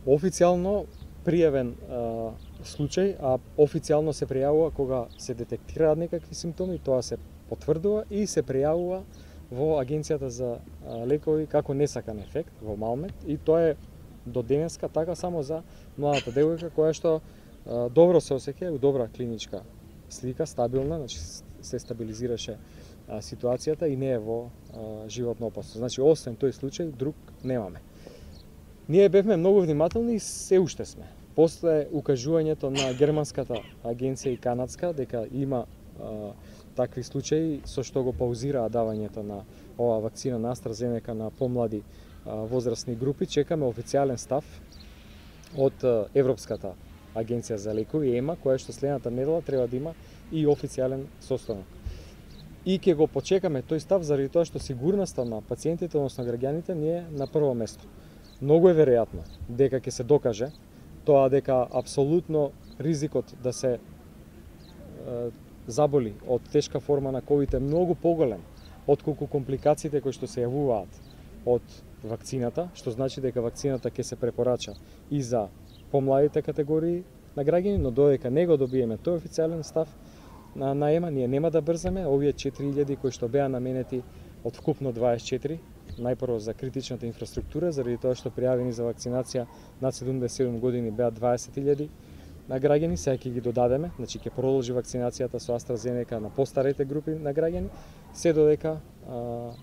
официјално пријавен случај, а официјално се пријавува кога се детектираат некакви симптоми, тоа се потврдува и се пријавува во Агенцијата за лекови како несакан ефект во Малмет, и тоа е до денеска така само за младата девојка која што добро се осеќа, добра клиничка слика, стабилна, значи се стабилизираше ситуацијата и не е во животно опасно. Значи освен тој случај друг немаме. Ние бевме многу внимателни и се уште сме. После укажувањето на германската агенција и канадска дека има такви случаи со што го паузираа давањето на оваа вакцина на AstraZeneca на помлади возрастни групи, чекаме официјален став од Европската агенција за лекови ЕМА, која што следната недела треба да има и официјален состанок. И ќе го почекаме тој став заради тоа што сигурноста на пациентите, односно граѓаните, ни е на прво место. Многу е веројатно дека ќе се докаже тоа дека апсолутно ризикот да се заболи од тешка форма на ковид е многу поголем отколку компликациите кои што се јавуваат од вакцината, што значи дека вакцината ќе се препорача и за помладите категории на граѓани, но додека не го добиеме тој официјален став на ЕМА, ние нема да брзаме. Овие 4000 кои што беа наменети од вкупно 24, најпрво за критичната инфраструктура, заради тоа што пријавени за вакцинација над 77 години беа 20.000 на граѓани, сега ќе ги додадеме, значи ќе продолжи вакцинацијата со AstraZeneca на постарите групи на граѓани, се додека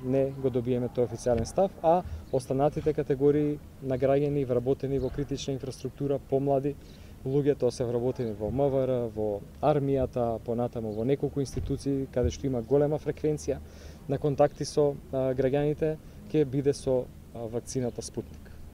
не го добиеме тој официјален став, а останатите категории на граѓани вработени во критична инфраструктура, помлади луѓе, тоа се вработени во МВР, во армијата, понатаму во неколку институции каде што има голема фреквенција на контакти со граѓаните, ќе биде со вакцината Спутник.